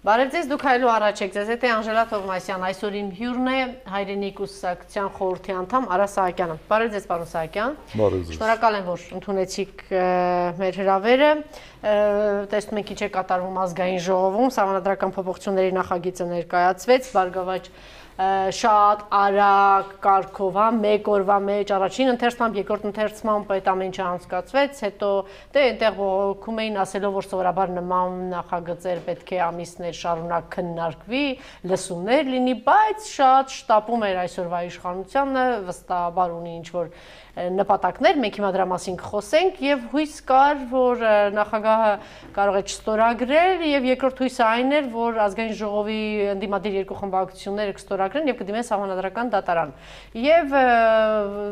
Բարև ձեզ, դուք հայլու առաջ եք, ձեզ հետ է Անժելա Թովմասյան, այսօր իմ հյուրն է հայրենի կուսակցության խորհրդի անդամ Արա Սահակյանը։ Բարև ձեզ, պարոն Սահակյան։ Բարև ձեզ։ Շնորհակալ եմ, որ ընդունեցիք մեր հրավերը։ Տեսնում եք ինչ է կատարվում ազգային ժողովում, սահմանադրական փոփոխությունների նախագիծը ներկայացվեց, Բարգավաճ շատ արագ կարգով, մեկ օրվա մեջ առաջին ընթերցմամբ, երկրորդ ընթերցմամբ այդ ամեն ինչը անցկացվեց, հետո դե այնտեղ բողոքում էին ասելով, որ սովորաբար նման նախագծեր պետք է ամիսներ շարունակ քննարկվի, լսումներ լինի, բայց շատ շտապում էր այսօրվա իշխանությունը, վստահաբար ունի ինչ-որ նպատակներ, մենք հիմա դրա մասին կխոսենք եւ հույս կար, որ նախագահը կարող է չստորագրել եւ երկրորդ հույսը այն էր, որ ազգային ժողովի ընդդիմադիր երկու խմբակցությունները կստորագրեն եւ կդիմեն սահմանադրական դատարան։ Եվ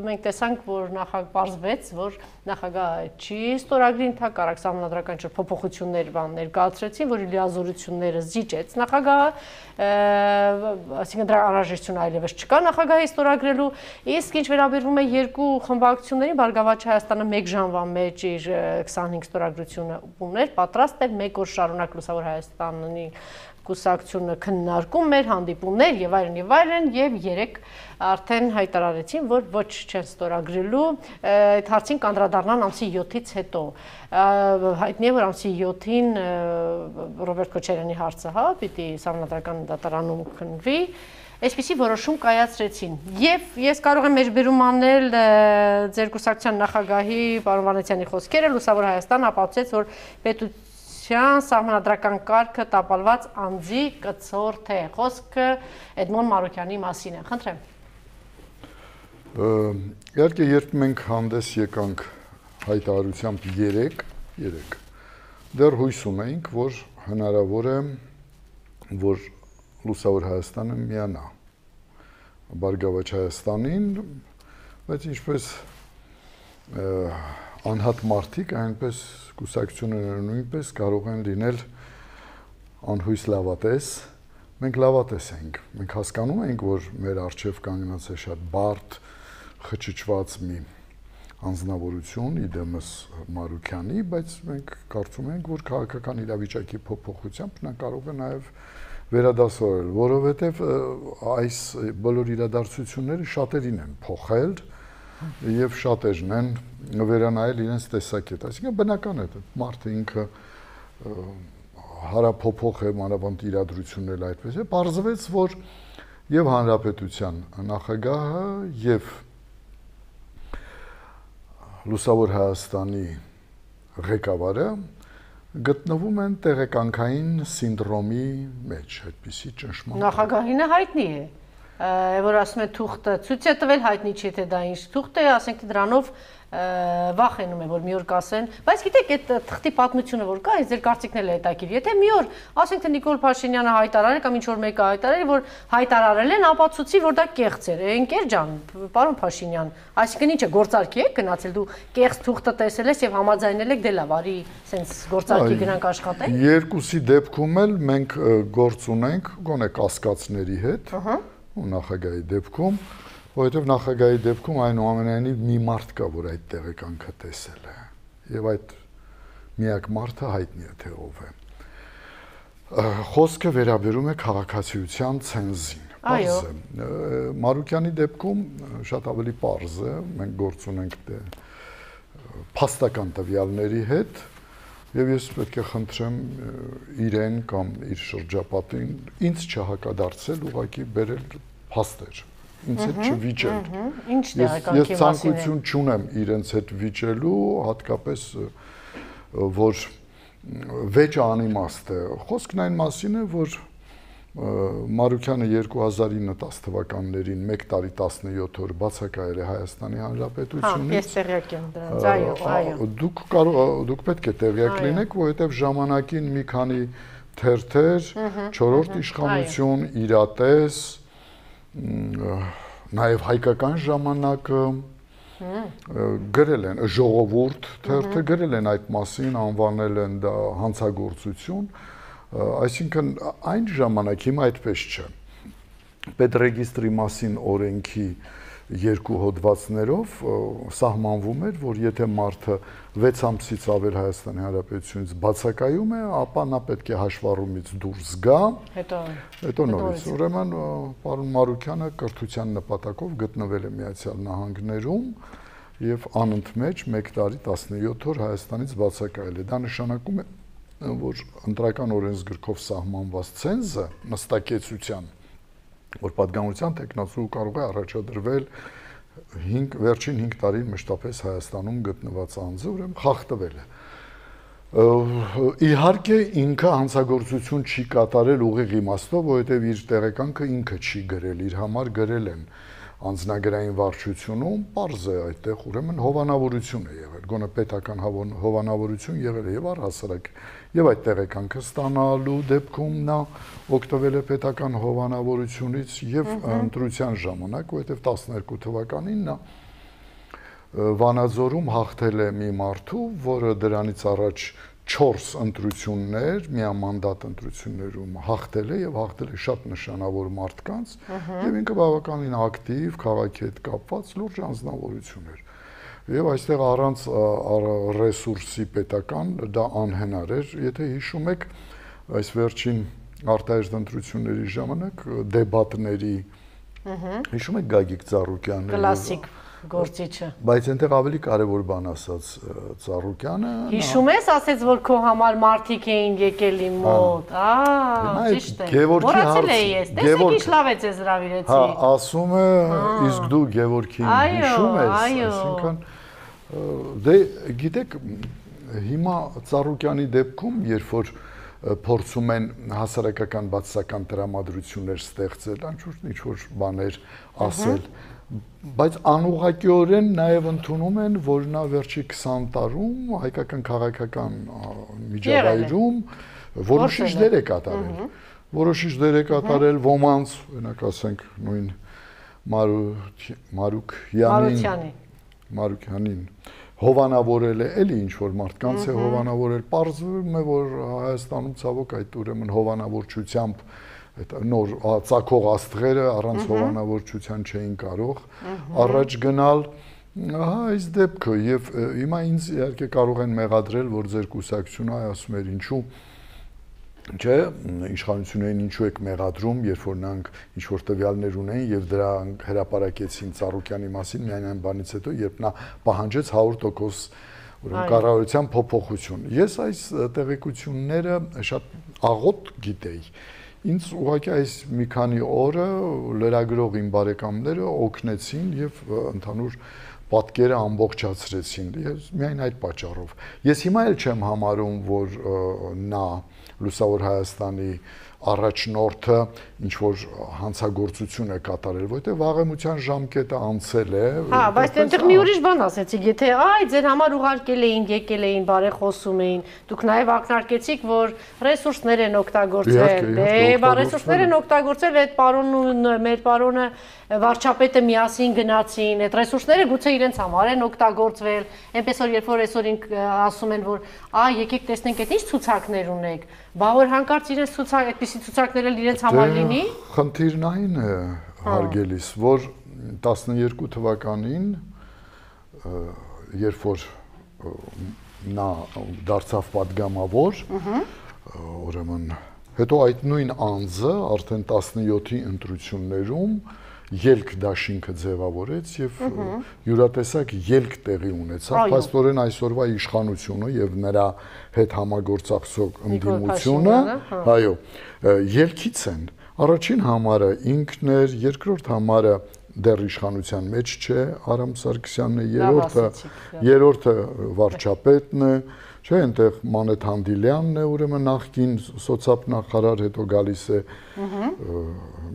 մենք տեսանք, որ պարզվեց, որ նախագահը չի ստորագրի ընդհակառակ սահմանադրական փոփոխություններ ներկայացրեցին, որի լիազորությունները զիջեց նախագահը, այսինքն դրա անհրաժեշտություն այլևս չկա նախագահի ստորագրելու, իսկ ինչ վերաբերվում է երկու խմբակցությունների, Բարգավաճ Հայաստանը 1 ժամվա մեջ իր 25 ստորագրությունը ուներ, պատրաստ էր 1 օր շարունակ Լուսավոր Հայաստանի կուսակցությունը քննարկում էր, հանդիպումներ եւ այլն եւ 3 արդեն հայտարարեցին, որ ոչ չեն ստորագրելու, այդ հարցին կանդրադառնան ամսի 7-ից հետո։ Հայտնի է, որ ամսի 7-ին Ռոբերտ Քոչարյանի հարցը, պիտի սահմանադրական դատարանում քննվի։ Այսպիսի որոշում կայացրեցին։ Եվ ես կարող եմ մեջբերում անել ձեր կուսակցության նախագահի պարոն Վանեցյանի խոսքերը, Լուսավոր Հայաստան ապացուցեց, որ պետության սահմանադրական կարգը տապալված անձի կցորդ է։ Խոսքը Էդմոն Մարուկյանի մասին է։ Խնդրեմ։ Իհարկե, երբ մենք հանդես եկանք հայտարարությամբ 3, դեռ հույս ունեինք, որ հնարավոր է, որ Լուսավոր Հայաստանը միանա Բարգավաճ Հայաստանին, բայց ինչպես անհատ մարդիկ, այնպես կուսակցությունները նույնպես կարող են լինել անհույս լավատես։ Մենք լավատես ենք, մենք հասկանում ենք, որ մեր առջև կանգնած է շատ բարդ, խճճված մի անձնավորություն, իդեմս Մարուկյանի, բայց մենք կարծում ենք, որ քաղաքական իրավիճակի փոփոխությամբ նա կարող է նաև վերադասավորել, որովհետև այս բոլոր իրադարձությունները շատերին են փոխել եւ շատերն են վերանայել իրենց տեսակետ։ Այսինքն բնական է, մարդը ինքը հարափոփող է, մանավանդ իրադրություններ այդպես է, պարզվեց, որ եւ հանրապետության նախագահը եւ Լուսավոր Հայաստանի ղեկավարը գտնվում են տեղեկանքային սինդրոմի մեջ, այդպիսի ճնշման։ Նախագահինը հայտնի է, որ ասում է թուղթը ցույց է տվել, հայտնի չէ թե դա ինչ թուղթ է, ասենք թե դրանով վախենում է, որ մի օր կասեն, բայց գիտեք, այդ թղթի պատմությունը որ կա, ձեր կարծիքն էլ է հետաքրքիր։ Եթե մի օր, ասենք թե Նիկոլ Փաշինյանը հայտարարել կամ ինչ որ մեկը հայտարարել, որ հայտարարել են, ապացուցի, որ դա կեղծ էր։ Ընկեր ջան, պարոն Փաշինյան, այսինքն ինչ է, գործարքի եք գնացել, դու կեղծ թուղթը տեսել ես եւ համաձայնել եք, դե լավ, արի, սենց գործարքի գնանք աշխատենք։ Երկուսի դեպքում էլ մենք գործ ունենք, գոնե կասկածների հետ, ու նախագահի դեպքում, որովհետև նախագահի դեպքում այնուամենայնիվ մի մարդ կա, որ այդ տեղեկանքը տեսել է, եւ այդ միակ մարդը հայտնի է, թե ով է։ Խոսքը վերաբերում է քաղաքացիության ցենզին։ Այո։ Մարուկյանի դեպքում շատ ավելի պարզ է, մենք գործ ունենք փաստական տվյալների հետ, եւ ես պետք է խնդրեմ իրեն կամ իր շրջապատին ինձ չհակադարձել, ուղղակի բերել փաստեր, ինձ հետ չվիճել։ Ինչ տեղեկանքի մասին է։ Ես ցանկություն չունեմ իրենց հետ վիճելու, հատկապես որ վեճը անիմաստ է։ Խոսքն այն մասին է, որ Մարուկյանը 2009-10 թվականներին 1 տարի 17 օր բացակայել է Հայաստանի Հանրապետությունից։ Ես տեղյակ եմ դրանց, այո։ Դուք պետք է տեղյակ լինեք, որովհետև ժամանակին մի քանի թերթեր, 4-րդ իշխանություն, Իրատես, նաև հայկական ժամանակը գրել են, ժողովուրդ թերթը գրել են այդ մասին, անվանել են դա հանցագործություն, այսինքն այն ժամանակ հիմա այդպես չէ։ Պետրեգիստրի մասին օրենքի երկու հոդվածներով սահմանվում էր, որ եթե մարդը 6 ամսից ավել Հայաստանի Հանրապետությունից բացակայում է, ապա նա պետք է հաշվառումից դուրս գա, հետո նորից։ Ուրեմն պարոն Մարուկյանը կրթության նպատակով գտնվել է Միացյալ Նահանգներում եւ անընդմեջ 1 տարի 17 օր Հայաստանից բացակայել է։ Դա նշանակում է, որ ընտրական օրենսգրքով սահմանված ցենզը նստակեցության, որ պատգամության տեխնացու կարող է առաջադրվել վերջին 5 տարին մշտապես Հայաստանում գտնված անձը, ուրեմն խախտվել է։ Իհարկե ինքը հանցագործություն չի կատարել ուղիղ իմաստով, որովհետև իր տեղեկանքը ինքը չի գրել, իր համար գրել են անձնագրային վարչությունում, պարզ է այդտեղ ուրեմն հովանավորություն է եղել, գոնե պետական հովանավորություն եղել է եւ առհասարակ եւ այդ տեղեկանքը ստանալու դեպքում նա օգտվել է պետական հովանավորությունից եւ ընտրության ժամանակ, որովհետեւ 12 թվականին նա Վանաձորում հաղթել է մի մարդու, որը դրանից առաջ 4 ընտրություններ, միամանդատ ընտրություններում հաղթել է եւ հաղթել է շատ նշանավոր մարդկանց եւ ինքը բավականին ակտիվ, քաղաքի հետ կապված լուրջ անձնավորություն էր։ Եվ այստեղ առանց ռեսուրսի պետական դա անհնար էր, եթե հիշում եք, այս վերջին արտահայտ ընտրությունների ժամանակ դեբատների հիշում եք Գագիկ Ծառուկյանը կլասիկ գործիչը։ Բայց այնտեղ ավելի կարևոր բան ասաց Ծառուկյանը։ Հիշում ես, ասեց, որ քո համար մարդիկ էին եկել իմ մոտ։ Ճիշտ է։ Որացել էի ես։ Տեսեք ինչ լավ է ձեզ հրավիրեցի։ Հա, ասում է, իսկ դու Գևորգին հիշում ես, այսինքն դե գիտեք, հիմա Ծառուկյանի դեպքում, երբ որ փորձում են հասարակական բացասական տրամադրություններ ստեղծել, ինչ-որ բաներ ասել, բայց անուղղակիորեն նաև ընդունում են, որ նա վերջի 20 տարում հայկական քաղաքական միջավայրում որոշիչ դեր է կատարել։ Որոշիչ դեր է կատարել ոմանց, օրինակ ասենք նույն Մարուկյանին հովանավորել է, էլի ինչ-որ մարդկանց է հովանավորել, պարզվում է, որ Հայաստանում ցավոք այդ ուրեմն հովանավորչությամբ նոր ծագող աստղերը առանց հովանավորչության չէին կարող առաջ գնալ, ահա այս դեպքը եւ հիմա ինձ իհարկե կարող են մեղադրել, որ ձեր կուսակցությունը ասում էր ինչու չէ, իշխանություններին ինչու եք մեղադրում, երբ որ նրանք ինչ որ տվյալներ ունեն եւ դրանք հրապարակեցին Ծառուկյանի մասին միայն այն բանից հետո, երբ նա պահանջեց 100% ուրեմն կառավարության փոփոխություն։ Ես այս տեղեկությունները շատ աղոտ գիտեի։ Ինձ ուղղակի այս մի քանի օրը լրագրող իմ բարեկամները օգնեցին եւ ընդհանուր պատկերը ամբողջացրեցին։ Ես միայն այդ պատճառով։ Ես հիմա էլ չեմ համարում, որ նա Լուսավոր Հայաստանի առաջնորդը ինչ որ հանցագործություն է կատարել, որտեղ վաղեմության ժամկետը անցել է։ Հա, բայց այնտեղ մի ուրիշ բան ասեցիք, եթե այ ձեր համար ուղարկել էին, եկել էին, բարեխոսում էին, դուք նաև ակնարկեցիք, որ ռեսուրսներ են օգտագործել։ Դե, ռեսուրսներ են օգտագործել, այդ պարոնն ու մեր պարոնը վարչապետը միասին գնացին, այդ ռեսուրսները գուցե իրենց համար են օգտագործվել, այնպես որ երբ որ այսօր ասում են, որ այ եկեք տեսնենք այդ ինչ ցուցակներ ունեք, բա որ հանկարծ իրենց ցուցակ, այդպիսի ցուցակներ էլ իրենց համար լինի։ Խնդիրն այն է, հարգելիս, որ 12 թվականին, երբ որ նա դարձավ պատգամավոր, ուրեմն հետո այդ նույն անձը արդեն 17-ի ընտրություններում ելք դաշինքը ձևավորեց եւ յուրատեսակ ելք տեղի ունեցավ, փաստորեն այսօրվա իշխանությունը եւ նրա հետ համագործակցող ընդդիմությունը, այո, ելքից են։ Առաջին համարը ինքն էր, երկրորդ համարը դեռ իշխանության մեջ չէ, Արամ Սարգսյանն է, երրորդը վարչապետն է, չէ, այնտեղ Մանեթ Հանդիլյանն է, ուրեմն նախկին սոցիալ-նախարար, հետո գալիս է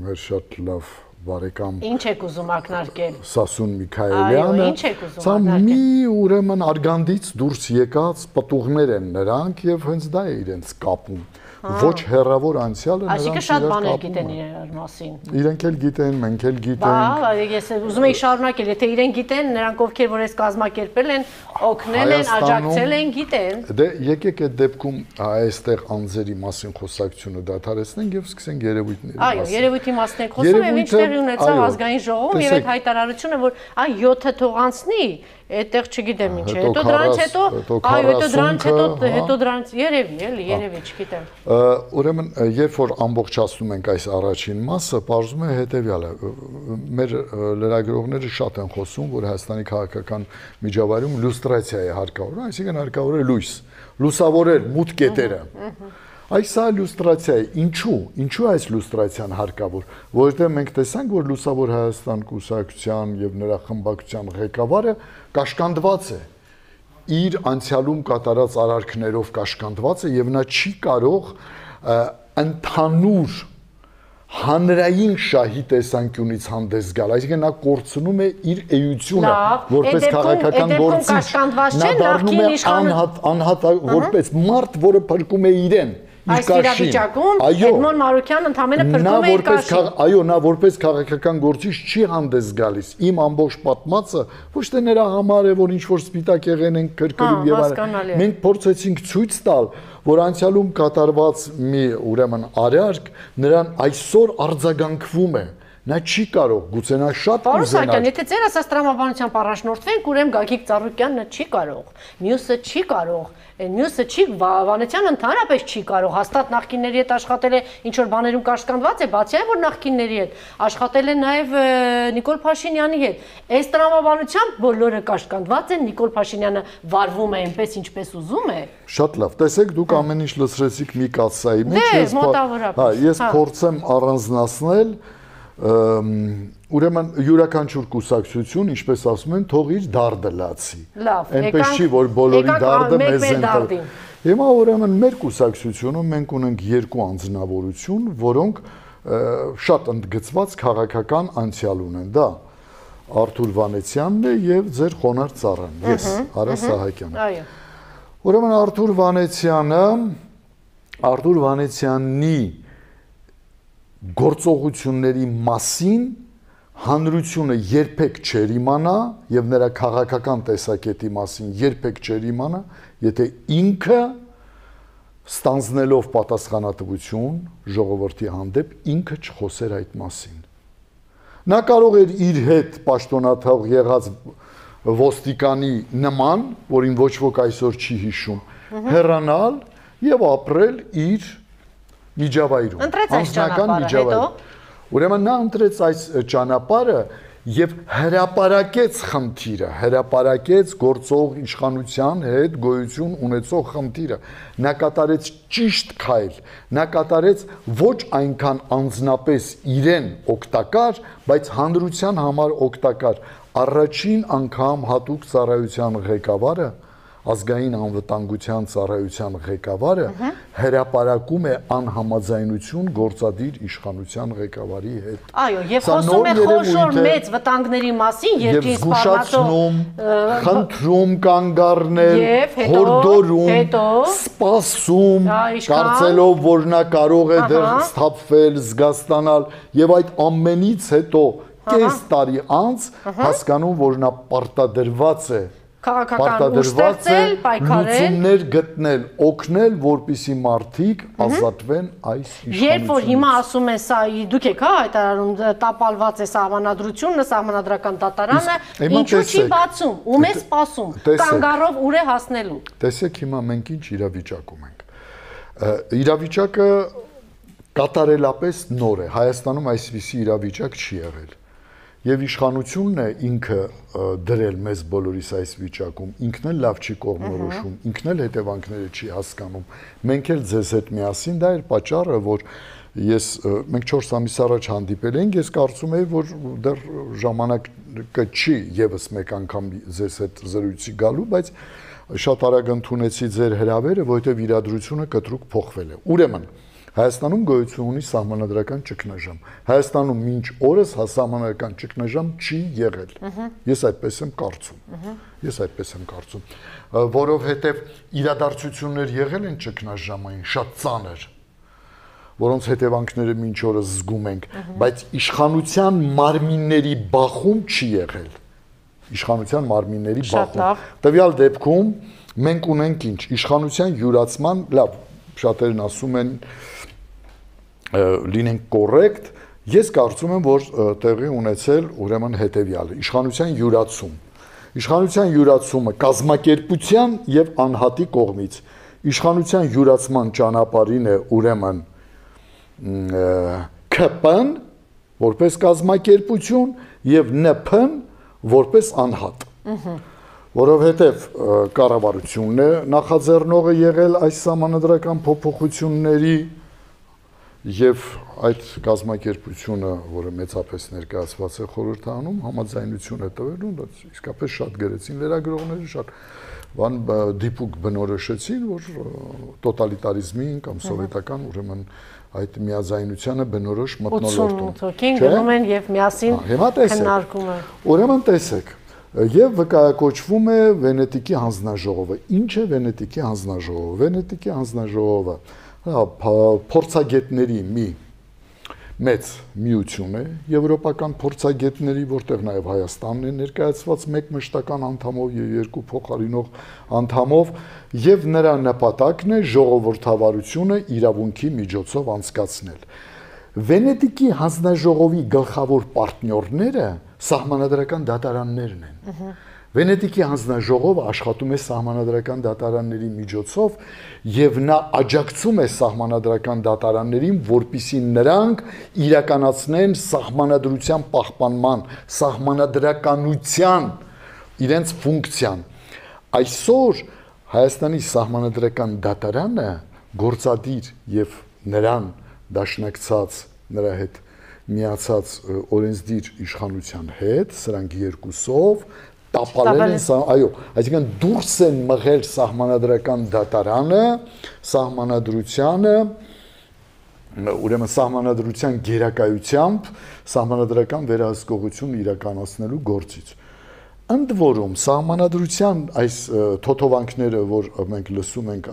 մեր շատ լավ բարեկամ։ Ինչ եք ուզում ակնարկել։ Սասուն Միքայելյանը։ Ինչ եք ուզում ակնարկել։ Սա մի ուրեմն արգանդից դուրս եկած պտուղներ են նրանք եւ հենց դա է իրենց կապում։ Ոչ հեռավոր անցյալը Այսինքն շատ բաներ գիտեն իրար մասին։ Իրենք էլ գիտեն, մենք էլ գիտենք։ Բա, ես ուզում եի շարունակել, եթե իրենք գիտեն, նրանք ովքեր որ այս կազմակերպել են, օգնել են, աջակցել են, գիտեն։ Դե եկեք այդ դեպքում այստեղ անձերի մասին խոսակցությունը դադարեցնենք եւ սկսենք երևույթների մասին։ Այո, երևույթի մասին եք խոսում եւ ինչ տեղի ունեցավ ազգային ժողովում եւ այդ հայտարարությունը, որ այ 7-ը թող անցնի, այդտեղ չգիտեմ ինչ է։ Հետո դրանից հետո, այո, հետո դրանից երևի, չգիտեմ։ Ուրեմն, երբ որ ամբողջացնում ենք այս առաջին մասը, բարձում է հետեւյալը։ Մեր լրագրողները շատ են խոսում, որ Հայաստանի քաղաքական միջավայրում լյուստրացիա է հարկավոր, այսինքն հարկավոր է լույս, լուսավորել մութ կետերը։ Այս սա լյուստրացիա է։ Ինչու այս լյուստրացիան հարկավոր, որովհետև մենք տեսանք, որ Լուսավոր Հայաստան կուսակցության եւ նրա խմբակցության ղեկավարը կաշկանդված է իր անցյալում կատարած արարքներով կաշկանդված է եւ նա չի կարող ընդհանուր հանրային շահի տեսանկյունից հանդես գալ, այսինքն նա կորցնում է իր էությունը որպես քաղաքական գործիչ, նա դառնում է անհատ որպես մարդ, որը փրկում է իրեն Այս իրավիճակում Էդմոն Մարուկյանն ընդամենը փրկում է իր կաշին։ Այո, նա որպես քաղաքական գործիչ չի հանդես գալիս։ Իմ ամբողջ պատմածը ոչ թե նրա համար է, որ ինչ-որ սպիտակ եղեն են կրկնում եւ այլն։ Մենք փորձեցինք ցույց տալ, որ անցյալում կատարված մի ուրեմն արարք նրան այսօր արձագանքվում է։ Նա չի կարող, գուցե նա շատ կուզենա։ Եթե ծեր ասած տրամաբանությամբ առաջնորդվենք, ուրեմն Գագիկ Ծառուկյանն չի կարող, մյուսը չի կարող, մյուսը չի, Վանեցյանը ընդհանրապես չի կարող, հաստատ նախկինների հետ աշխատել է, ինչ որ բաներում կաշկանդված է, բացի այն որ նախկինների հետ աշխատել է նաև Նիկոլ Փաշինյանի հետ։ Այս տրամաբանությամբ բոլորը կաշկանդված են, Նիկոլ Փաշինյանը վարվում է այնպես ինչպես ուզում է։ Շատ լավ, տեսեք դուք ամեն ինչ լսրեցիք մի կաթսայի մեջ, ես փորձեմ առանձնացնել ուրեմն յուրաքանչյուր կուսակցություն, ինչպես ասում են, թող իր դարդը լացի։ Այնպես չի, որ բոլորի դարդը մեզ են տալի։ Հիմա ուրեմն մեր կուսակցությունում մենք ունենք երկու անձնավորություն, որոնք շատ ընդգծված քաղաքական անցյալ ունեն, դա Արթուր Վանեցյանն է եւ ձեր խոնարհ ծառան, ես, Արա Սահակյանը։ Այո։ Ուրեմն Արթուր Վանեցյանի գործողությունների մասին հանրությունը երբեք չեր իմանա եւ նրա քաղաքական տեսակետի մասին երբեք չեր իմանա, եթե ինքը ստանձնելով պատասխանատվություն ժողովրդի հանդեպ ինքը չխոսեր այդ մասին։ Նա կարող էր իր հետ պաշտոնաթող եղած ոստիկանի նման, որին ոչ ոք այսօր չի հիշում, հեռանալ եւ ապրել իր միջավայրում, անձնական միջավայրում։ Ուրեմն նա ընտրեց այս ճանապարհը եւ հրապարակեց խնդիրը, հրապարակեց գործող իշխանության հետ գոյություն ունեցող խնդիրը։ Նա կատարեց ճիշտ քայլ, նա կատարեց ոչ այնքան անձնապես իրեն օգտակար, բայց հանրության համար օգտակար։ Առաջին անգամ հատուկ ծառայության ղեկավարը ազգային անվտանգության ծառայության ղեկավարը հրապարակում է անհամաձայնություն գործադիր իշխանության ղեկավարի հետ։ Այո, եւ խոսում է խոշոր մեծ վտանգների մասին, երկրի սպառնացող, խնդրում կանգ առնել, հորդորում, սպասում, կարծելով, որ նա կարող է դեռ սթափվել, զգաստանալ եւ այդ ամենից հետո կես տարի անց հասկանում, որ նա պարտադրված է քաղաքական ուժ ստեղծել, պայքարել, լուծումներ գտնել, օգնել, որպիսի մարդիկ ազատվեն այս իշխանությունից։ Երբ որ հիմա ասում են սա դուք եք հայտարարում տապալված է սահմանադրությունը, սահմանադրական դատարանը, ինչու չի բացում, ում է սպասում, կանգառով ուր է հասնելու։ Տեսեք հիմա մենք ինչ իրավիճակում ենք։ Իրավիճակը կատարելապես նոր է, Հայաստանում այսպիսի իրավիճակ չի եղել։ Եվ իշխանությունն է ինքը դրել մեզ բոլորիս այս վիճակում, ինքն էլ լավ չի կողմնորոշում, ինքն էլ հետևանքները չի հասկանում։ Մենք էլ ձեզ հետ միասին, դա էր պատճառը, որ մենք 4 ամիս առաջ հանդիպել էինք, ես կարծում եի, որ դեռ ժամանակը չի եւս մեկ անգամ ձեզ հետ զրույցի գալու, բայց շատ արագ ընդունեցի ձեր հրավերը, որովհետեւ իրադրությունը կտրուկ փոխվել է։ Ուրեմն Հայաստանում գոյություն ունի սահմանադրական ճգնաժամ։ Հայաստանում մինչ օրս սահմանադրական ճգնաժամ չի եղել։ Ես այդպես եմ կարծում։ Որովհետև իրադարձություններ եղել են ճգնաժամային շատ ծանր, որոնց հետևանքները մինչ օրս զգում ենք, բայց իշխանության մարմինների բախում չի եղել։ Իշխանության մարմինների բախում։ Տվյալ դեպքում մենք ունենք ինչ, իշխանության յուրացման, լավ, շատերն ասում են լինենք կոռեկտ, ես կարծում եմ, որ տեղի ունեցել ուրեմն հետևյալը, իշխանության յուրացում։ Իշխանության յուրացումը կազմակերպության եւ անհատի կողմից իշխանության յուրացման ճանապարհին է ուրեմն ԿՊ-ն որպես կազմակերպություն եւ ՆՓ-ն որպես անհատ։ Որովհետեւ կառավարությունն է նախաձեռնողը եղել այս սահմանադրական փոփոխությունների եւ այդ կազմակերպությունը, որը մեծապես ներկայացված է խորհրդանում, համաձայնություն է տվել ու դա իսկապես շատ գրեցին լրագրողները, շատ բան դիպուկ բնորոշեցին, որ տոտալիտարիզմին կամ սովետական ուրեմն այդ միաձայնությանը բնորոշ մթնոլորտ ունի։ 88 հոգին գնում են եւ միասին քննարկում են։ Ուրեմն տեսեք, եւ վկայակոչվում է Վենետիկի հանձնաժողովը։ Ինչ է Վենետիկի հանձնաժողովը։ Վենետիկի հանձնաժողովը փորձագետների մի մեծ միություն է, եվրոպական փորձագետների, որտեղ նաև Հայաստանն է ներկայացված մեկ մշտական անդամով եւ երկու փոխարինող անդամով, եւ նրա նպատակն է ժողովրդավարությունը իրավունքի միջոցով անցկացնել։ Վենետիկի հանձնաժողովի գլխավոր պարտներները սահմանադրական դատարաններն են։ Վենետիկի հանձնաժողովը աշխատում է սահմանադրական դատարանների միջոցով եւ նա աջակցում է սահմանադրական դատարաններին, որպիսի նրանք իրականացնեն սահմանադրության պահպանման, սահմանադրականության իրենց ֆունկցիան։ Այսօր Հայաստանի սահմանադրական դատարանը գործադիր եւ նրան դաշնակցած, նրա հետ միացած օրենսդիր իշխանության հետ, սրանք երկուսով տապալել են, այո, այսինքն դուրս են մղել սահմանադրական դատարանը, սահմանադրությանը, ուրեմն սահմանադրության գերակայությամբ սահմանադրական վերահսկողություն իրականացնելու գործից։ Ընդ որում սահմանադրության այս թոթովանքները, որ մենք լսում ենք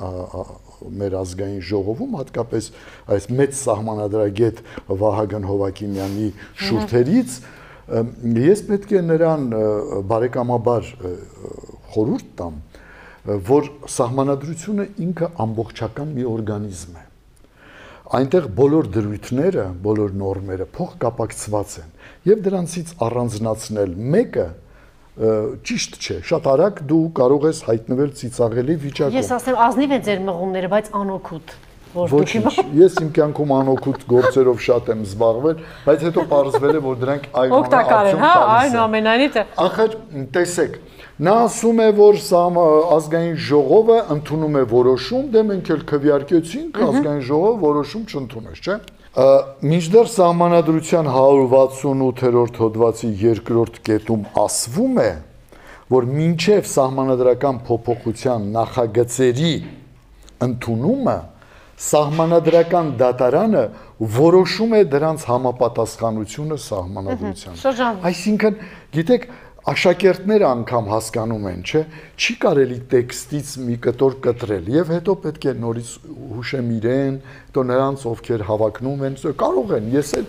մեր ազգային ժողովում, հատկապես այս մեծ սահմանադրագետ Վահագն Հովակիմյանի շուրթերից, ես պետք է նրան բարեկամաբար խորհուրդ տամ, որ սահմանադրությունը ինքը ամբողջական մի օրգանիզմ է։ Այնտեղ բոլոր դրույթները, բոլոր նորմերը փոխկապակցված են, եւ դրանցից առանձնացնել մեկը ճիշտ չէ, շատ արագ դու կարող ես հայտնվել ծիծաղելի վիճակում։ Ես ասեմ, ազնիվ են ձեր մղումները, բայց անօգուտ։ Ոչինչ, ես իմ կյանքում անօգուտ գործերով շատ եմ զբաղվել, բայց հետո պարզվել է, որ դրանք օգտակար են, հա, այնուամենայնիվ։ Ախր, տեսեք, նա ասում է, որ ազգային ժողովը ընդունում է որոշում, դե մենք էլ քվեարկեցինք, ազգային ժողովը որոշում չընդունեց, չէ՞։ Մինչդեռ սահմանադրության 168-րդ հոդվածի 2-րդ կետում ասվում է, որ մինչև սահմանադրական փոփոխության նախագծերի ընդունումը սահմանադրական դատարանը որոշում է դրանց համապատասխանությունը սահմանադրությանը։ Այսինքն, գիտեք, աշակերտները անգամ հասկանում են, չէ, չի կարելի տեքստից մի կտոր կտրել եւ հետո պետք է նորից հուշեմ իրեն, հետո նրանց ովքեր հավակնում են, կարող են, ես էլ